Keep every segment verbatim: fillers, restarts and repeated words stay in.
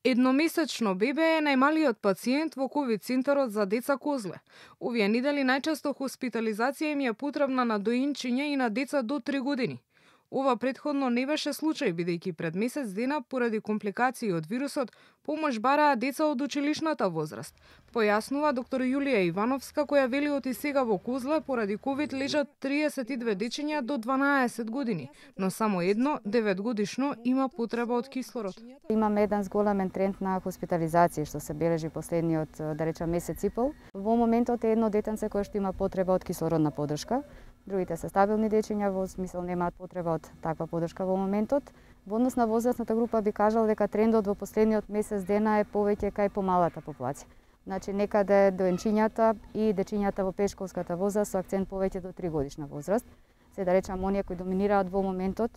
Едномесечно бебе е најмалиот пациент во ковид центарот за деца Козле. Овие недели најчесто хоспитализација им е потребна на доинчиња и на деца до три години. Ова претходно не беше случај, бидејќи пред месец дена, поради компликации од вирусот, помош бараа деца од училишната возраст. Појаснува доктор Јулија Ивановска, која вели од и сега во Козле поради ковид лежат триесет и две дечиња до дванаесет години, но само едно, деветгодишно, има потреба од кислород. Имаме еден зголемен тренд на хоспитализација што се бележи последниот, да речам, месец и пол. Во моментот е едно детенце кое што има потреба од кислородна поддршка. Другите се стабилни дечиња, во смисол немаат потреба од таква поддршка во моментот. Во однос на возрастната група би кажал дека трендот во последниот месец дена е повеќе кај помалата популација. Значи некаде доенчињата и дечињата во пешколската возраст со акцент повеќе до три годишна возраст. Се да речам оние кои доминираат во моментот.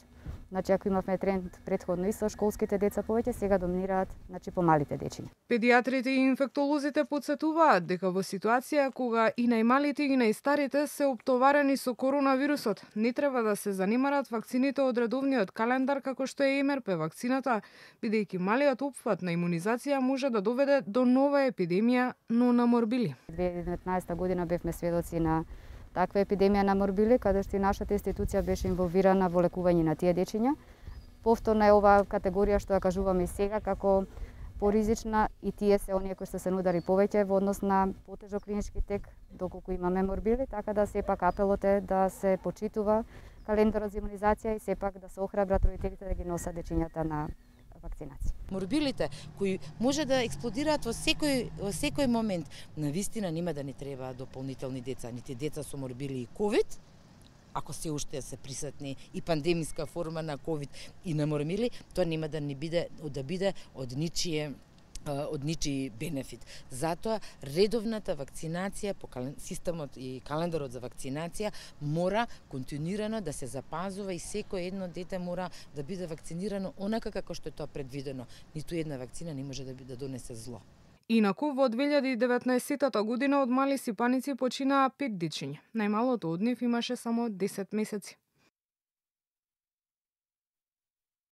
Значи ако имавме тренд претходно и со школските деца повеќе, сега доминираат значи помалите дечиња. Педиатрите и инфектолозите потсетуваат дека во ситуација кога и најмалите и најстарите се оптоварени со коронавирусот, не треба да се занимарат вакцините од редовниот календар како што е ем ер пе вакцината, бидејќи малиот опфат на имунизација може да доведе до нова епидемија, но на морбили. две илјади и деветнаесетта година бевме сведоци на таква епидемија на морбили, каде што и нашата институција беше инволвирана во лекување на тие дечиња. Повторно е оваа категорија што ја кажуваме и сега како поризична и тие се оние кои што се нудари повеќе во однос на потежок клинички тек доколку имаме морбили, така да сепак апелот е да се почитува календарот за имунизација и сепак да се охрабрат родителите да ги носат дечињата на вакцинација. Морбилите кои може да експлодираат во секој во секој момент, навистина нема да ни требаат дополнителни деца, нити деца со морбили и ковид, ако се уште се присутни и пандемиска форма на ковид и на морбили, тоа нема да ни биде да биде од ничие од ничи бенефит. Затоа редовната вакцинација по системот и календарот за вакцинација мора континуирано да се запазува и секој едно дете мора да биде вакцинирано онака како што е тоа предвидено. Ниту една вакцина не може да да донесе зло. Инаку во две илјади и деветнаесетта година од мали сипаници починаа пет дечиња. Најмалото од нив имаше само десет месеци.